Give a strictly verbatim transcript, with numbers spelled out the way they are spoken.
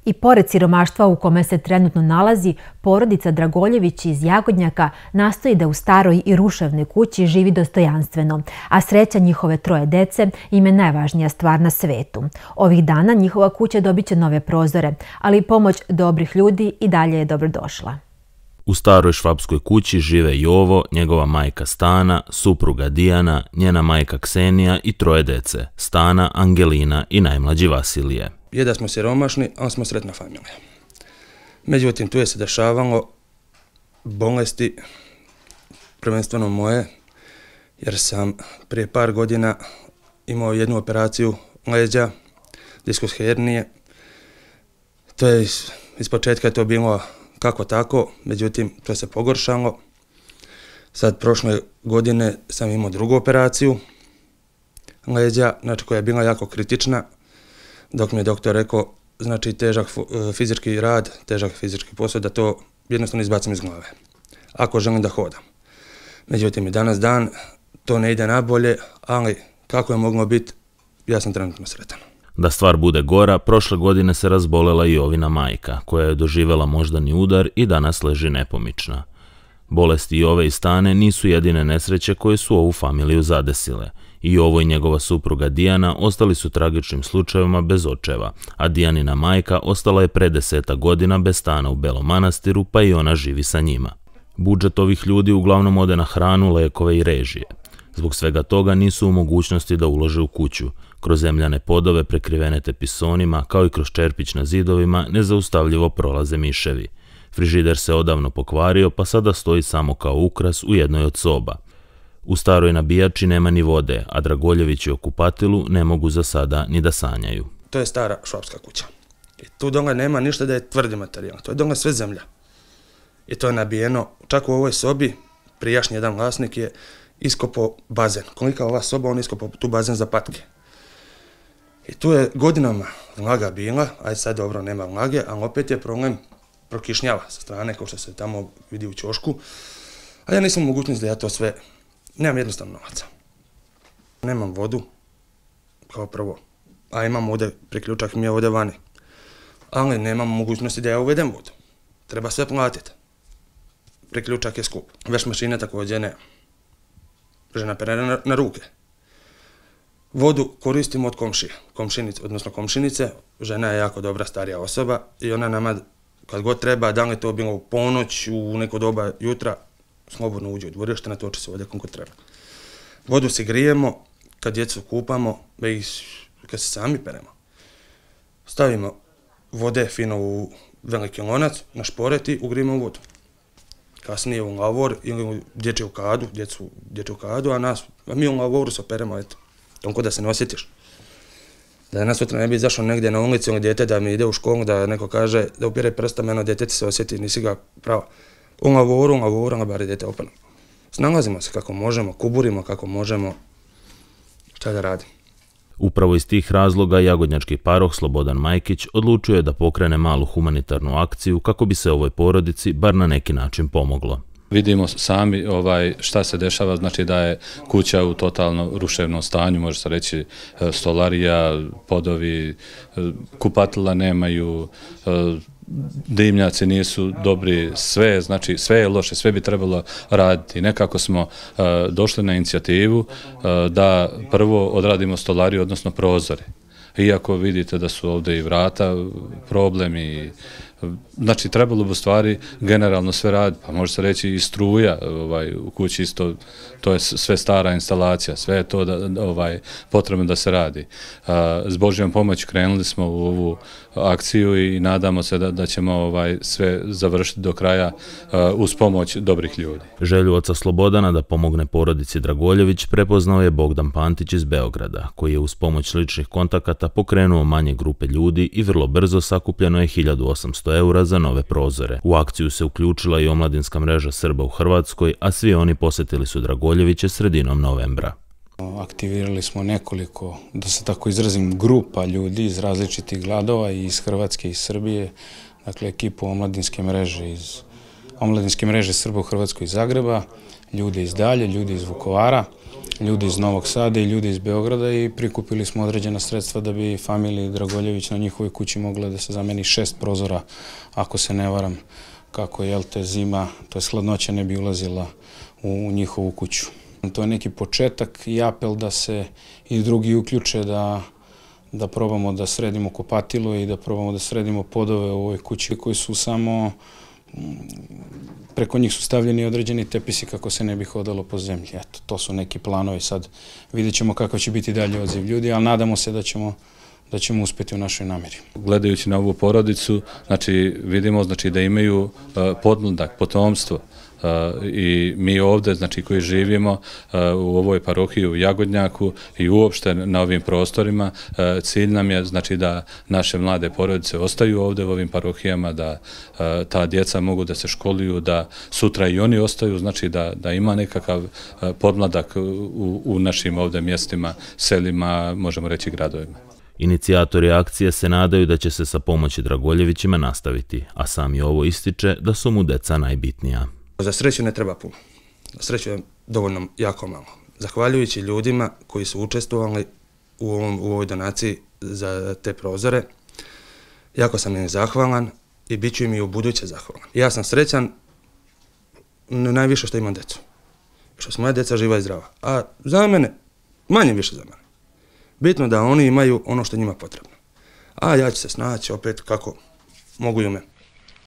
I pored siromaštva u kome se trenutno nalazi, porodica Dragoljević iz Jagodnjaka nastoji da u staroj i ruševnoj kući živi dostojanstveno, a sreća njihove troje dece im je najvažnija stvar na svetu. Ovih dana njihova kuća dobit će nove prozore, ali pomoć dobrih ljudi i dalje je dobrodošla. U staroj švapskoj kući žive Jovo, njegova majka Stana, supruga Dijana, njena majka Ksenija i troje dece, Stana, Angelina i najmlađi Vasilije. Je da smo siromašni, ali smo sretna familija. Međutim, tu je se dešavalo bolesti, prvenstveno moje, jer sam prije par godina imao jednu operaciju leđa, diskus hernije. To je iz, iz početka je to bilo kako tako, međutim, to se pogoršalo. Sad, prošle godine sam imao drugu operaciju leđa, znači koja je bila jako kritična, dok mi je doktor rekao, znači težak fizički rad, težak fizički posao, da to jednostavno izbacim iz glave, ako želim da hodam. Međutim, i danas dan to ne ide nabolje, ali kako je moglo biti, ja sam trenutno sretan. Da stvar bude gora, prošle godine se razbolela i Jovina majka, koja je doživjela moždani udar i danas leži nepomična. Bolesti Jove i Stane nisu jedine nesreće koje su ovu familiju zadesile. I Jovo i njegova supruga Dijana ostali su tragičnim slučajevima bez očeva, a Dijanina majka ostala je pre deseta godina bez stana u Belom Manastiru, pa i ona živi sa njima. Budžet ovih ljudi uglavnom ode na hranu, lekove i režije. Zbog svega toga nisu u mogućnosti da ulože u kuću. Kroz zemljane podove prekrivene tepisonima, kao i kroz čerpić na zidovima, nezaustavljivo prolaze miševi. Frižider se odavno pokvario, pa sada stoji samo kao ukras u jednoj od soba. U staroj nabijači nema ni vode, a Dragoljevići u kupatilu ne mogu za sada ni da sanjaju. To je stara švapska kuća. I tu dole nema ništa da je tvrdi materijal. To je dole sve zemlja. I to je nabijeno. Čak u ovoj sobi, prijašnji jedan vlasnik je iskopao bazen. Kolika ova soba, on iskopao tu bazen za patke. I tu je godinama vlaga bila, aj sad dobro nema vlage, ali opet je problem prokišnjava sa strane, kao što se tamo vidi u ćošku. A ja nisam u mogućnosti da ja to sve, nemam jednostavno novaca. Nemam vodu, kao prvo, a imam ovdje priključak mi je ovdje vani. Ali nemam mogućnosti da ja uvedem vodu. Treba sve platiti. Priključak je skup. Veš mašine također ne. Žena pere na, na ruke. Vodu koristimo od komšije, komšinice, odnosno komšinice. Žena je jako dobra starija osoba i ona nama kad god treba, da li to bilo u ponoć, u neko doba jutra, slobodno uđe u dvorište, natoči se ovdje kako treba. Vodu si grijemo, kad djecu kupamo, kad se sami peremo. Stavimo vode fino u veliki lonac, na šporet i ugrijemo u vodu. Kasnije u lavor ili u dječju kadu, djecu dječju kadu, a, nas, a mi u lavoru se operemo, eto, tonko da se ne osjetiš. Da danas sutra ne bi izašao negdje na ulici ili djete da mi ide u školu, da neko kaže da upire prstom, eno djete ti se osjeti, nisi ga pravo. U lavoru, u lavoru, a bar djete opano. Snalazimo se kako možemo, kuburimo kako možemo, šta da radim. Upravo iz tih razloga jagodnjački paroh Slobodan Majkić odlučio je da pokrene malu humanitarnu akciju kako bi se ovoj porodici bar na neki način pomoglo. Vidimo sami ovaj šta se dešava, znači da je kuća u totalno ruševnom stanju, može se reći stolarija, podovi, kupatila nemaju, dimnjaci nisu dobri, sve, znači sve je loše, sve bi trebalo raditi. Nekako smo uh, došli na inicijativu uh, da prvo odradimo stolariju, odnosno prozore. Iako vidite da su ovdje i vrata problemi, znači trebalo bi u stvari generalno sve raditi, pa može se reći i struja ovaj, u kući isto, to je sve stara instalacija, sve je to da, ovaj, potrebno da se radi. S Božjom pomoći krenuli smo u ovu akciju i nadamo se da, da ćemo ovaj, sve završiti do kraja uz pomoć dobrih ljudi. Želju oca Slobodana da pomogne porodici Dragoljević prepoznao je Bogdan Pantić iz Beograda, koji je uz pomoć ličnih kontakata pokrenuo manje grupe ljudi i vrlo brzo sakupljeno je hiljadu osamsto eura za nove prozore. U akciju se uključila i omladinska mreža Srba u Hrvatskoj, a svi oni posjetili su Dragoljeviće sredinom novembra. Aktivirali smo nekoliko, da se tako izrazim, grupa ljudi iz različitih gradova i iz Hrvatske i Srbije, dakle ekipu omladinske mreže iz omladinske mreže Srba u Hrvatskoj iz Zagreba, ljude iz Dalje, ljude iz Vukovara. ljudi iz Novog Sada i ljudi iz Beograda i prikupili smo određena sredstva da bi familiji Dragoljević na njihovoj kući mogla da se zameni šest prozora, ako se ne varam, kako je te zima, to je hladnoća ne bi ulazila u njihovu kuću. To je neki početak i apel da se i drugi uključe da da probamo da sredimo kupatilo i da probamo da sredimo podove u ovoj kući koji su samo, preko njih su stavljeni određeni tepisi kako se ne bi hodalo po zemlji. Eto, to su neki planovi, sad vidjet ćemo kakav će biti dalje odziv ljudi, ali nadamo se da ćemo da ćemo uspjeti u našoj namjeri. Gledajući na ovu porodicu, znači vidimo znači da imaju uh, podmladak, potomstvo. Uh, i mi ovdje, znači koji živimo uh, u ovoj parohiji u Jagodnjaku i uopšte na ovim prostorima, uh, cilj nam je znači da naše mlade porodice ostaju ovdje u ovim parohijama, da uh, ta djeca mogu da se školuju, da sutra i oni ostaju, znači da, da ima nekakav uh, podmladak u, u našim ovdje mjestima, selima, možemo reći gradovima. Inicijatori akcije se nadaju da će se sa pomoći Dragoljevićima nastaviti, a sam i ovo ističe da su mu deca najbitnija. Za sreću ne treba puno. Za sreću je dovoljno jako malo. Zahvaljujući ljudima koji su učestvovali u, ovom, u ovoj donaciji za te prozore, jako sam im zahvalan i bit ću im i u buduće zahvalan. Ja sam srećan najviše što imam decu. Što su moja deca živa i zdrava. A za mene, manje više za mene. Bitno da oni imaju ono što njima potrebno. A ja ću se snaći opet kako mogu i u mene.